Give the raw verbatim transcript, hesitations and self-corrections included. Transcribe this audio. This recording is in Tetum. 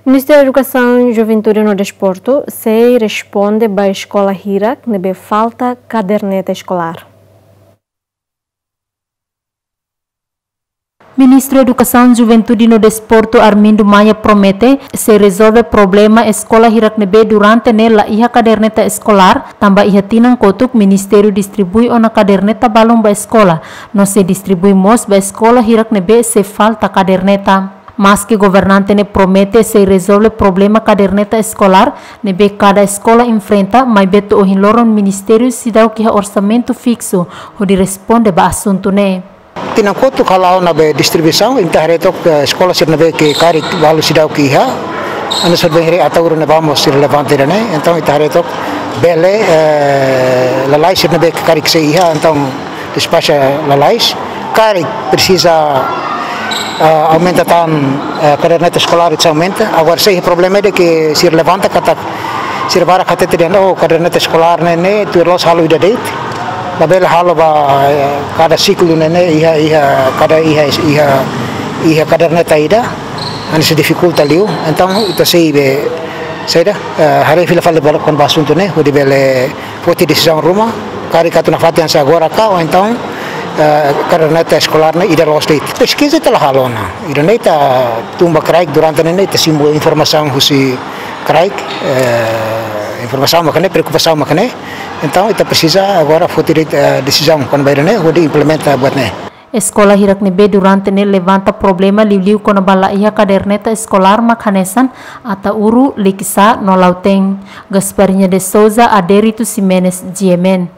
Ministériu Edukasaun, Juventude no Desportu sei responde ba eskola hirak ne'ebé falta kaderneta eskolár. Ministru Edukasaun, Juventude no Desportu, Armindo Maia, promete sei rezolve problema eskola hirak ne'ebé durante ne'e la iha kaderneta eskolár, tanba iha tinan kotuk ministériu distribui ona kaderneta balun ba eskola, no sei distribui mós ba eskola hirak ne'ebé sei falta kaderneta. Maske governante ne'e promete sei rezolve problema kaderneta eskolár ne'ebé kada eskola enfrenta, maibé to'o ohin loron ministériu seidauk iha orsamentu fiksu hodi responde ba asuntu ne'e. Tinan kotuk hala'o ona be distribuisaun, ita haree took, eh, eskola sira ne'ebé ke karik balu seidauk iha, hanesan be haree Ataúru ne'ebá mós sira levanta ida-ne'e, entaun ita haree took bele, eh, lalais sira ne'ebé ke karik sei iha, entaun despaxa lalais, karik presiza, eh, aumenta tan, eh, kaderneta eskolár ita aumenta, agora sei problema ida ke sira levanta katak sira barak hatete dehan, oh, kaderneta eskolár ne'e, ne'e tuir loloos halo ida de'it. Labele halo ba, eh, kada siklu ne'e, ne'e, iha, iha, kada iha, iha, iha kaderneta ida, hanesan difikulta liu. Entaun, ita sei be, saida, eh, haree fila fali ba kona-ba asuntu ne'e, hodi bele foti desizaun ruma, karik atu nafatin hanesan agora ka, ou entaun, eh, kaderneta eskolár ne'e ida loloos de'it. Peskiza ita la halo ona. Ida-ne'e ita tun ba kraik durante ne'e, ita simu informasaun husi kraik, eh, informasaun mak ne'e, preokupasaun mak ne'e. Entaun, ita presiza agora foti, eh, desizaun kona-ba ida-ne'e, hodi implementa buat ne'e. Eskola hirak ne'ebé durante ne'e levanta problema liuliu kona-ba la iha kaderneta eskolár mak hanesan Ataúru, Likisá no Lautém. Gasparinha de Souza, Adérito Ximenes, G M N.